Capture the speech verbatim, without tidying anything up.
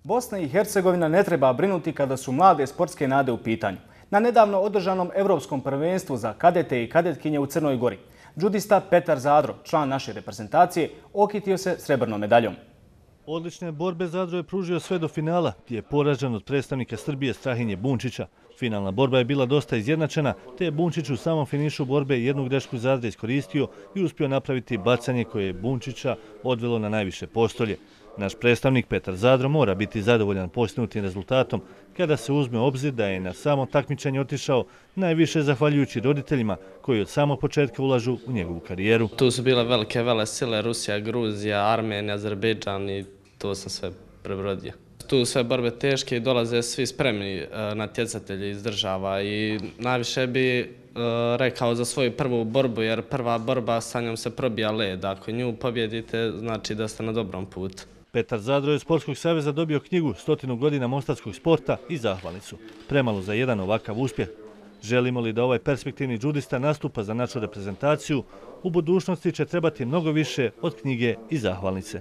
Bosna i Hercegovina ne treba brinuti kada su mlade sportske nade u pitanju. Na nedavno održanom Evropskom prvenstvu za kadete i kadetkinje u Crnoj Gori, džudista Petar Zadro, član naše reprezentacije, okitio se srebrnom medaljom. Odlične borbe Zadro je pružio sve do finala, gdje je poražen od predstavnika Srbije Strahinje Bunčića. Finalna borba je bila dosta izjednačena, te je Bunčić u samom finišu borbe jednu grešku Zadra iskoristio i uspio napraviti bacanje koje je Bunčića odvelo na najviše postolje. Naš predstavnik Petar Zadro mora biti zadovoljan postignutim rezultatom kada se uzme u obzir da je na samo takmičenje otišao najviše zahvaljujući roditeljima koji od samog početka ulažu u njegovu karijeru. Tu su bile velike vele sile, Rusija, Gruzija, Armenija, Azerbejdžan i to sam sve prebrodio. Tu sve borbe teške i dolaze svi spremni natjecatelji iz država i najviše bi rekao za svoju prvu borbu, jer prva borba sa njom se probija led. Ako nju pobjedite, znači da ste na dobrom putu. Petar Zadro je od Sportskog saveza dobio knjigu Stotinu godina mostarskog sporta i zahvalnicu. Premalo za jedan ovakav uspjeh. Želimo li da ovaj perspektivni džudista nastupa za našu reprezentaciju, u budućnosti će trebati mnogo više od knjige i zahvalnice.